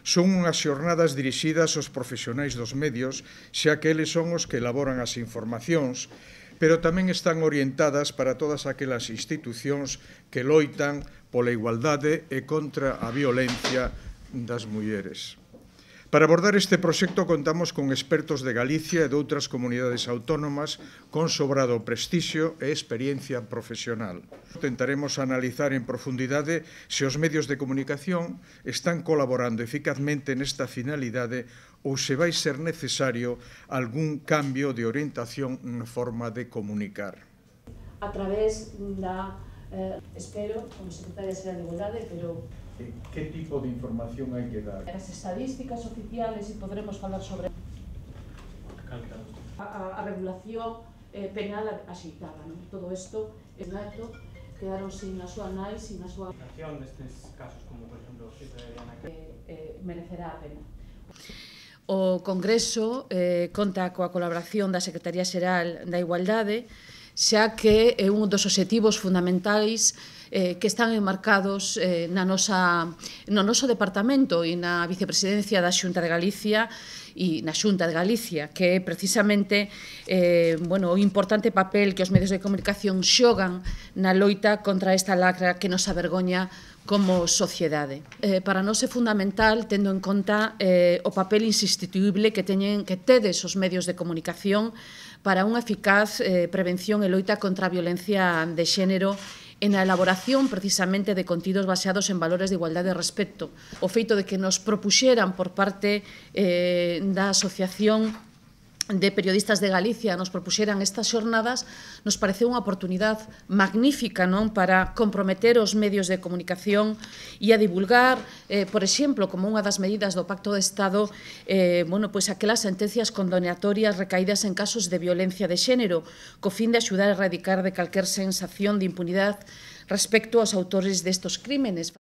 Son unhas xornadas dirixidas aos profesionais dos medios, xa que eles son os que elaboran as informacións, pero tamén están orientadas para todas aquelas institucións que loitan pola igualdade e contra a violencia das mulleres. Para abordar este proxecto contamos con expertos de Galicia e de outras comunidades autónomas con sobrado prestixio e experiencia profesional. Tentaremos analizar en profundidade se os medios de comunicación están colaborando eficazmente nesta finalidade ou se vai ser necesario algún cambio de orientación na forma de comunicar. A través da, espero, como secretaria xeral de Igualdade, pero Que tipo de información hai que dar? as estadísticas oficiales e podremos falar sobre a regulación penal axeitada, non? Todo isto é dato, quedaron sin a súa nai, sin a súa destes casos, como por exemplo o de Diana, merecerá a pena. O Congreso conta coa colaboración da Secretaría Xeral da Igualdade, xa que é un dos obxectivos fundamentais que están enmarcados no noso departamento e na vicepresidencia da Xunta de Galicia e na Xunta de Galicia, que é precisamente o importante papel que os medios de comunicación xogan na loita contra esta lacra que nos avergoña como sociedade. Para nós é fundamental, tendo en conta o papel insustituible que tedes os medios de comunicación para unha eficaz prevención e loita contra a violencia de xénero e na elaboración precisamente de contidos baseados en valores de igualdade e respecto. O feito de que nos propuxeran por parte da Asociación de Periodistas de Galicia nos propuxeran estas xornadas, nos pareceu unha oportunidade magnífica, non, para comprometer os medios de comunicación e a divulgar, por exemplo, como unha das medidas do Pacto de Estado, aquelas sentencias condenatorias recaídas en casos de violencia de xénero, co fin de axudar a erradicar de calquer sensación de impunidade respecto aos autores destes crímenes.